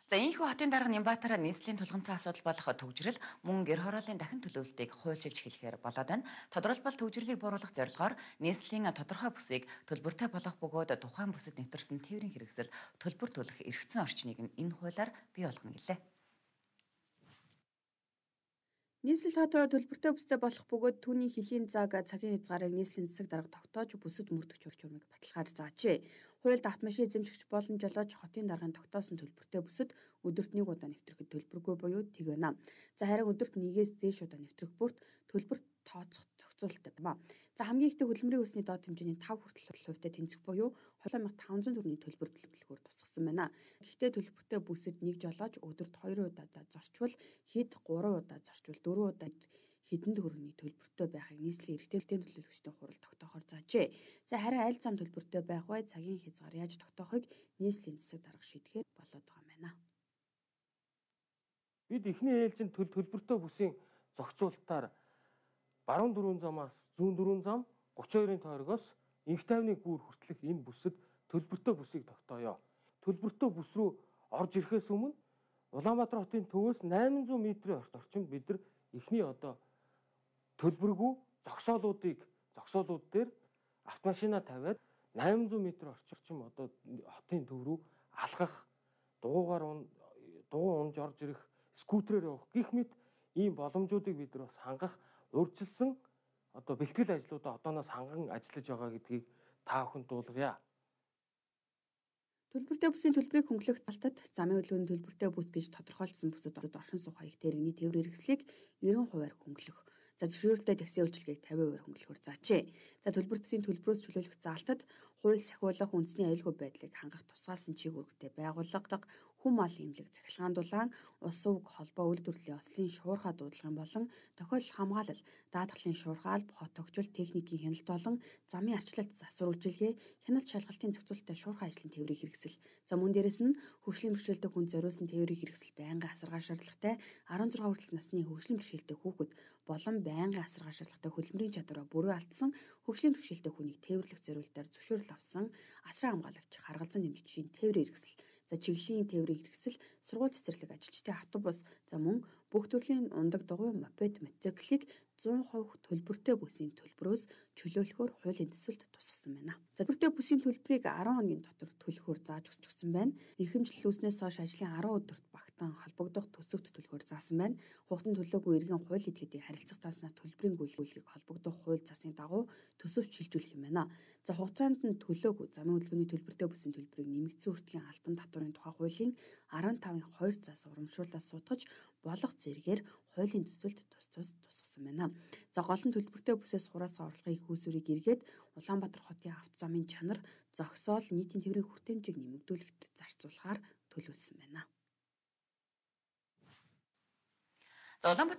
За ийхүү хотын дарга Нямбатар нийслэлийн тулгымцсан асуудал болох төгжрөл мөн гэр хорооллын дахин төлөвлөлтийг хуульчилж эхлэхээр болоод байна. Тодорхойлбол төгжрлийг бууруулах зорилгоор нийслэлийн тодорхой бүсийг төлбөртэй болгох бөгөөд тухайн бүсэд нэвтэрсэн тээврийн хэрэгсэл төлбөр төлөх эрхцэн орчныг нь энэ хуулиар бий болгоно гэлээ. Нийслэл хотоо төлбөртэй бүстэй болох бөгөөд түүний хөлийн цагийн хязгаарыг нийслэлийн засаг дарга тогтоож бүсэд мөрдөх журмыг баталгаар заажээ. Хуульд автомашин эзэмшигч боломжлож хотын даргын тогтоосон төлбөртэй бүсэд өдөрт 1 удаа нэвтрэхэд төлбөргүй буюу тэг байна. За харин өдөрт 1-ээс дээш удаа нэвтрэх бүрт төлбөр тооцох зохицуулалттай байна. За хамгийн ихтэй хөдөлмөрийн үсний доод хэмжээний 5 хүртэл хувьтай тэнцэх буюу 2500 төгрөгийн төлбөр төлөхөөр тусгасан байна. Гэхдээ төлбөртэй бүсэд нэг жолооч өдөрт 2 удаа зорчвол хэд 3 удаа зорчвол 4 удаа хэдэн төгрөгийн төлбөртэй байхыг нийслэлийн эрхтэн төлөөлөгчдийн хурал тогтоохоор заажээ. За харин аль зам төлбөртэй байх вэ? Цагийн хязгаар яаж тогтоохыг нийслэлийн засаг дарга шийдэхээр болоод байгаа юм байна. Бид эхний ээлжинд төлбөртэй бүсийн зохицуулалтаар баруун дөрвөн замаас зүүн дөрвөн зам 32-ын тойрогоос инх тайвны гүүр хүртэлх энэ бүсэд төлбөртэй бүсийг тогтооё. Төлбөртэй бүс рүү орж ирэхээс өмнө Улаанбаатар хотын төвөөс 800 м-ийн орчимд бид нар эхний төлбөргүй зогсоолууд дээр автомашина тавиад 800 м орчим хотын төв рүү алхах, дугуй унж орж ирэх, скутерээр явах гэх мэт ийм боломжуудыг бид нар бас хангах урьдчилсан бэлтгэл ажлуудаа одооноос ханган ажиллаж байгаа гэдгийг та бүхэнд дуулгая. Төлбөртэй бүсийн төлбөрийг хөнгөлөх залтад замын хөдөлгөөний төлбөртэй бүс гэж тодорхойлсон бүсэд оршин суух хаяг тэрэгний тээврийн хэрэгслийг 90% хөнгөлөх. За зөвшөөрөлтэй такси үйлчилгээг 50% хөнгөлөхөөр заажээ. За төлбөртсийн төлбөрөөс чөлөөлөх залтад хууль сахиулах үндэсний аюулгүй байдлыг хангах тусгаалсан чиг үүрэгтэй байгууллага, хүм мал эмнэлэг захилгаан дулаан, ус өг холбоо үйлдвэрлэлийн ослын шуурхай дуудлагын болон тохиолдол хамгаалал, даатгалын шуурхай, хот тогтвол техникийн хяналт болон замын арчлалт засвар үйлчилгээ, хяналт шалгалтын зохицуулалттай шуурхай ажлын тээврийн хэрэгсэл. За мөн дээрэс нь хөгжлийн бэрхшээлтэй хүн зориулсан тээврийн хэрэгсэл байнгын асаргаа шаардлагатай 16 хүртэлх насны хөгжлийн бэрхшээлтэй хүүхэд болон байнгын асаргаа шаардлагатай хөдөлмөрийн чадвараа бүрэн алдсан хөгжлийн бэрхшээлтэй хүнийг тээвэрлэх зориулалтаар зөвшөөрөл авсан асран хамгаалагч харгалзан дэмжигчийн тээврийн хэрэгсэл. За чиглэлийн тээврийн хэрэгсэл, сургууль цэцэрлэг ажилчдын автобус, за мөн бүх төрлийн ундаг дугуй, мопед, мотоциклыг 100% төлбөртэй бүсийн төлбөрөөс чөлөөлөхөөр хуулийн төсөлд тусгасан байна. За төлбөртэй бүсийн төлбөрийг 10 хоногийн дотор төлөхөөр зааж өгсөн байна. Эрхэмжил үүснээс хойш ажлын 10 өдөрт багтаан холбогдох төсөвт төлөхөөр заасан байна. Хугацаанд төлөөгүй иргэн хууль эдгэдийн харилцах тааснаа төлбөрийн гүйлгүүлгийг холбогдох хууль засгийн дагуу төсөвт шилжүүлэх юм байна. За хугацаанд нь төлөөгүй замын хөдөлгөөний төлбөртэй бүсийн төлбөрийг нэмэгдсэн хүртлийн албан татварын тухай хуулийн 15-ын 2 заас урамшууллаас сутгаж болох зэрэгээр хуулийн төсөлд тусгасан байна. За гол нь төлбөртэй бүсээс хураацсан орлогын их үүсвэрийг эргээд Улаанбаатар хотын автозамын чанар, зогсоол, нийтийн тээврийн хүртээмжийг нэмэгдүүлэхэд зарцуулахаар төлөвлөсөн байна. За Улаанбаатар